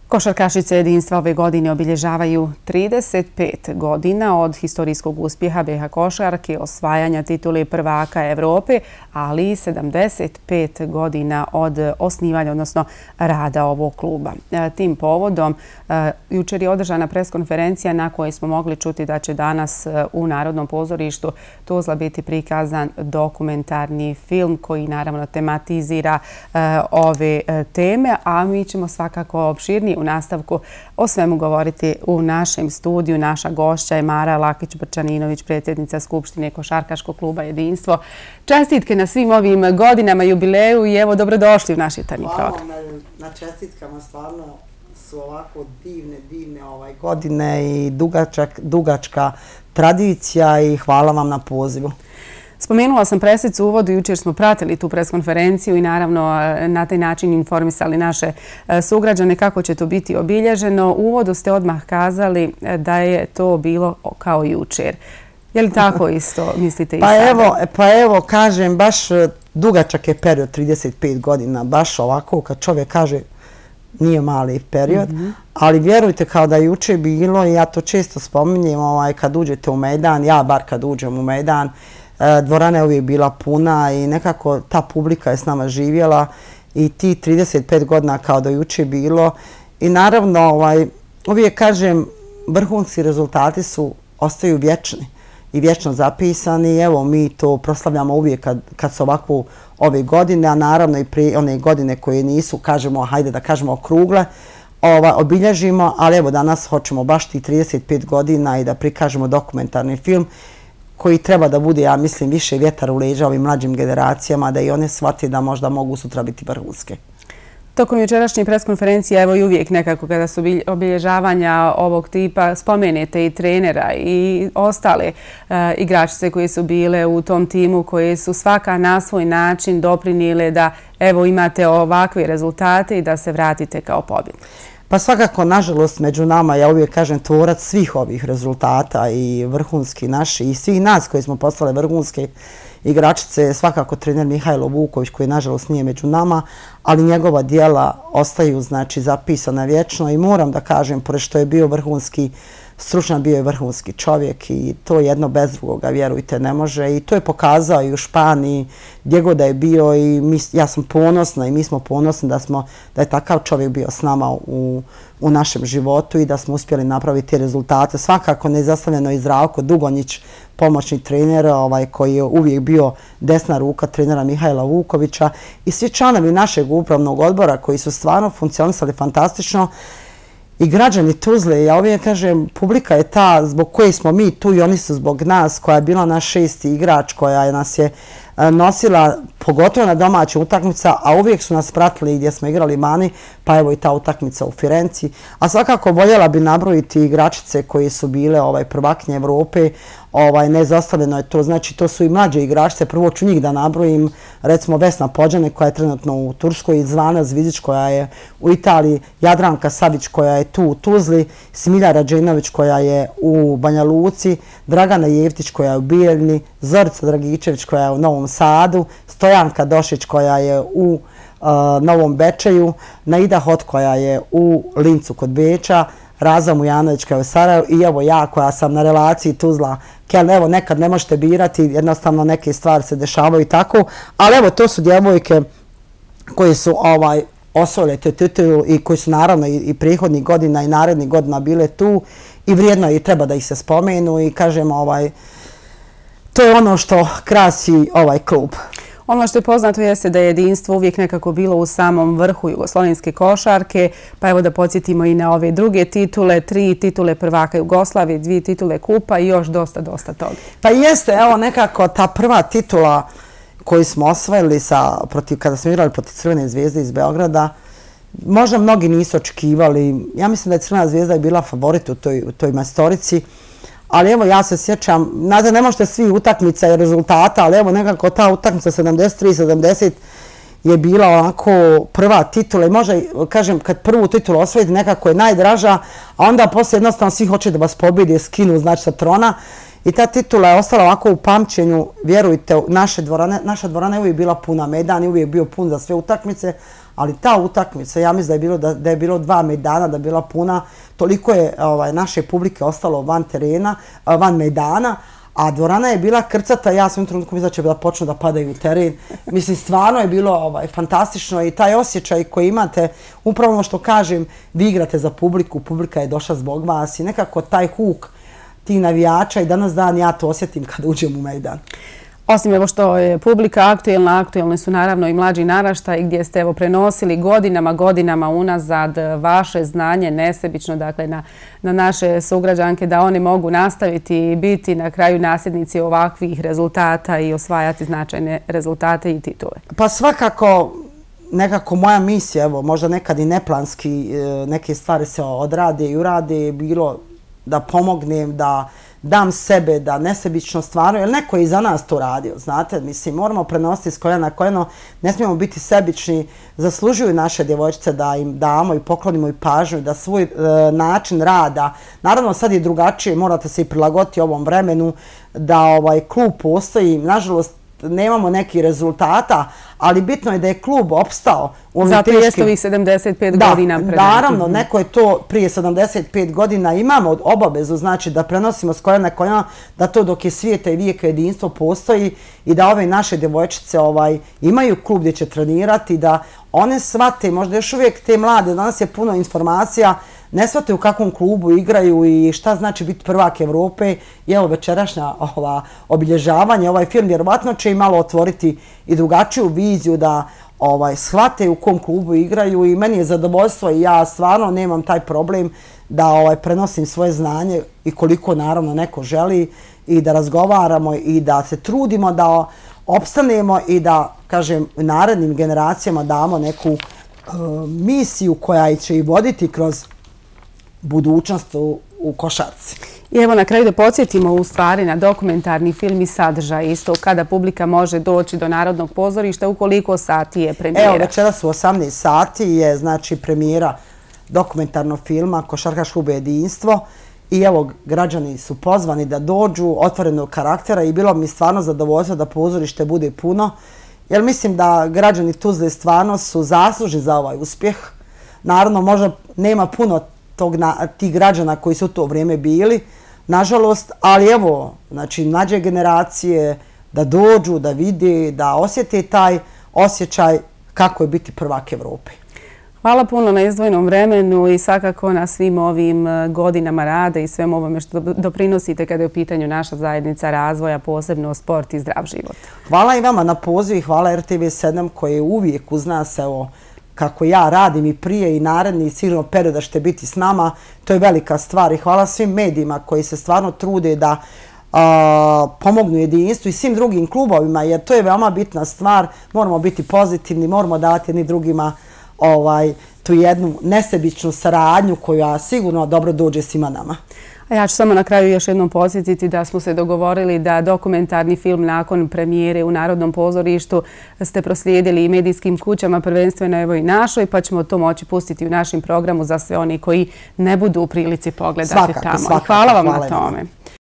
Košarkašice jedinstva ove godine obilježavaju 35 godina od historijskog uspjeha BiH košarke, osvajanja titule prvaka Evrope, ali i 75 godina od osnivanja, odnosno rada ovog kluba. Tim povodom, jučer je održana preskonferencija na kojoj smo mogli čuti da će danas u Narodnom pozorištu Tuzla biti prikazan dokumentarni film koji naravno tematizira ove teme, a mi ćemo svakako opširnije u nastavku o svemu govoriti u našem studiju. Naša gošća je Mara Lakić-Brčaninović, predsjednica Skupštine Košarkaškog kluba Jedinstvo. Čestitke na svim ovim godinama jubileju i evo dobrodošli u naš jutarnji program. Hvala na čestitkama, stvarno su ovako divne godine i dugačka tradicija i hvala vam na pozivu. Spomenula sam presicu u uvodu, jučer smo pratili tu preskonferenciju i naravno na taj način informisali naše sugrađane kako će to biti obilježeno. U uvodu ste odmah kazali da je to bilo kao jučer. Je li tako isto mislite i sada? Pa evo, kažem, baš dugačak je period, 35 godina, baš ovako kad čovjek kaže nije mali period, ali vjerujte kao da je jučer bilo i ja to često spominjem kad uđete u Mejdan, ja bar kad uđem u Mejdan, dvorana je uvijek bila puna i nekako ta publika je s nama živjela i ti 35 godina kao da jučer bilo. I naravno, uvijek kažem, vrhunski rezultati ostaju vječni i vječno zapisani. Evo, mi to proslavljamo uvijek kad su ovako ove godine, a naravno i prije one godine koje nisu, kažemo, hajde da kažemo okrugle, obilježimo, ali evo danas hoćemo baš ti 35 godina i da prikažemo dokumentarni film koji treba da bude, ja mislim, više vjetar u leđa ovim mlađim generacijama, da i one shvate da možda mogu sutra biti vrhunske. Tokom jučerašnje preskonferencije, evo i uvijek nekako kada su obilježavanja ovog tipa, spomenete i trenera i ostale igračice koje su bile u tom timu, koje su svaka na svoj način doprinijele da evo imate ovakve rezultate i da se vratite kao pobjednici. Pa svakako, nažalost, među nama, ja uvijek kažem, tvorac svih ovih rezultata i vrhunski naši i svih nas koji smo postale vrhunske igračice je svakako trener Mihajlo Vuković koji nažalost nije među nama, ali njegova djela ostaju zapisana vječno i moram da kažem, pored što je bio vrhunski stručnjak, bio je vrhunski čovjek i to jedno bez drugoga, vjerujte, ne može. I to je pokazao i u Španiji, gdje god da je bio i ja sam ponosna i mi smo ponosni da je takav čovjek bio s nama u našem životu i da smo uspjeli napraviti te rezultate. Svakako neizostavljeno i Zdravko Dugonjić, pomoćni trener koji je uvijek bio desna ruka trenera Mihajla Vukovića i svi članovi našeg upravnog odbora koji su stvarno funkcionisali fantastično. I građani Tuzle, ja uvijek kažem, publika je ta zbog koje smo mi tu i oni su zbog nas, koja je bila naš šesti igrač, koja nas je nosila, pogotovo na domaćim utakmica, a uvijek su nas pratili gdje smo igrali vani, pa evo i ta utakmica u Firenci. A svakako voljela bi nabrojiti igračice koji su bile prvakinje Evrope, neizostavljeno je to, znači to su i mlađe igračice, prvo ću njih da nabrojim, recimo Vesna Pođane koja je trenutno u Turskoj, Zvana Zvizić koja je u Italiji, Jadranka Savić koja je tu u Tuzli, Smilja Rađenović koja je u Banja Luci, Dragana Jevtić koja je u Bijeljni, Zorica Dragičević koja je u Novom Sadu, Stojanka Došić koja je u Novom Bečeju, Naida Hot koja je u Lincu kod Beča, Raza Mujanović koja je u Sarajevu i evo ja koja sam na relaciji Tuzla-Keln. Evo nekad ne možete birati, jednostavno neke stvari se dešavaju i tako, ali evo to su djevojke koje su osvojile tu titulu i koji su naravno i prethodnih godina i narednih godina bile tu i vrijedno i treba da ih se spomenu i kažem to je ono što krasi ovaj klub. Ono što je poznato jeste da je jedinstvo uvijek nekako bilo u samom vrhu jugoslovenske košarke, pa evo da podsjetimo i na ove druge titule, 3 titule prvaka Jugoslavije, 2 titule kupa i još dosta toga. Pa jeste, evo nekako ta prva titula koju smo osvojili kada smo igrali protiv Crvene zvezde iz Beograda, možda mnogi nisu očekivali, ja mislim da je Crvena zvezda je bila favorit u toj majstorici, ali evo ja se sjećam, znate ne možete svi utakmica i rezultata, ali evo nekako ta utakmica 73-70 je bila onako prva titula i možda, kažem, kad prvu titulu osvojite nekako je najdraža, a onda poslije jednostavno svi hoće da vas pobjede, skinu znači sa trona i ta titula je ostala ovako u pamćenju, vjerujte, naša dvorana je uvijek bila puna, Medan je uvijek bio pun za sve utakmice, ali ta utakmica, ja mislim da je bilo 2 mejdana, da je bila puna, toliko je naše publike ostalo van mejdana, a dvorana je bila krcata, ja sam u trenutku mislila da će da počnu da padaju u teren. Mislim, stvarno je bilo fantastično i taj osjećaj koji imate, upravo ono što kažem, vi igrate za publiku, publika je došla zbog vas i nekako taj huk tih navijača i danas dan ja to osjetim kad uđem u mejdan. Osim evo što je publika aktuelna, aktuelni su naravno i mlađi naraštaj gdje ste evo prenosili godinama unazad vaše znanje nesebično, dakle na naše sugrađanke da oni mogu nastaviti i biti na kraju nasljednici ovakvih rezultata i osvajati značajne rezultate i titule. Pa svakako nekako moja misija, evo možda nekad i neplanski neke stvari se odrade i urade, bilo da pomognem, da dam sebe, da nesebično stvarno, jer neko je i za nas to radio, znate, mislim, moramo prenositi s koljena na koljeno, ne smijemo biti sebični, zaslužuju naše djevojčice da im damo i poklonimo i pažnju, da svoj način rada, naravno sad je drugačije, morate se i prilagoditi ovom vremenu, da klub postoji, nažalost, nemamo nekih rezultata, ali bitno je da je klub opstao u ovim teškim... Zato jeste ovih 75 godina pred nama. Naravno, neko je to prije 75 godina imamo obavezu, znači da prenosimo s koljena na koljeno, da to dok je svijeta i vijeka jedinstvo postoji i da ove naše djevojčice imaju klub gdje će trenirati, da one shvate, možda još uvijek te mlade, danas je puno informacija, ne shvate u kakvom klubu igraju i šta znači biti prvak Evrope. I evo večerašnja obilježavanje, ovaj film vjerovatno će im malo otvoriti i drugačiju viziju da shvate u kom klubu igraju i meni je zadovoljstvo i ja stvarno nemam taj problem da prenosim svoje znanje i koliko naravno neko želi i da razgovaramo i da se trudimo da opstanemo i da, kažem, narednim generacijama damo neku misiju koja će i voditi kroz budućnost u košarci. I evo na kraju da podsjetimo u stvari na dokumentarni film i sadržaj isto kada publika može doći do Narodnog pozorišta, ukoliko sati je premijera. Evo večeras u 18 sati je znači premijera dokumentarnog filma Košarkaško klub Jedinstvo i evo građani su pozvani da dođu otvorenog karaktera i bilo mi stvarno zadovoljstvo da pozorište bude puno, jer mislim da građani Tuzle stvarno su zaslužni za ovaj uspjeh. Naravno možda nema puno tih građana koji su u to vrijeme bili, nažalost, ali evo, znači, mlađe generacije da dođu, da vide, da osjete taj osjećaj kako je biti prvak Evrope. Hvala puno na izdvojenom vremenu i svakako na svim ovim godinama rada i svem ovome što doprinosite kada je u pitanju naša zajednica razvoja, posebno sport i zdrav život. Hvala i vama na poziv i hvala RTV7 koji je uvijek uz nas, evo, kako ja radim i prije i naredni sigurno period da ćete biti s nama, to je velika stvar i hvala svim medijima koji se stvarno trude da pomognu jedinstvu i svim drugim klubovima, jer to je veoma bitna stvar, moramo biti pozitivni, moramo davati jedni drugima tu jednu nesebičnu saradnju koja sigurno dobro dođe svima nama. A ja ću samo na kraju još jednom podsjetiti da smo se dogovorili da dokumentarni film nakon premijere u Narodnom pozorištu ste proslijedili i medijskim kućama, prvenstveno evo i našoj, pa ćemo to moći pustiti u našem programu za sve oni koji ne budu u prilici pogledati tamo. Svakako, hvala vam na tome.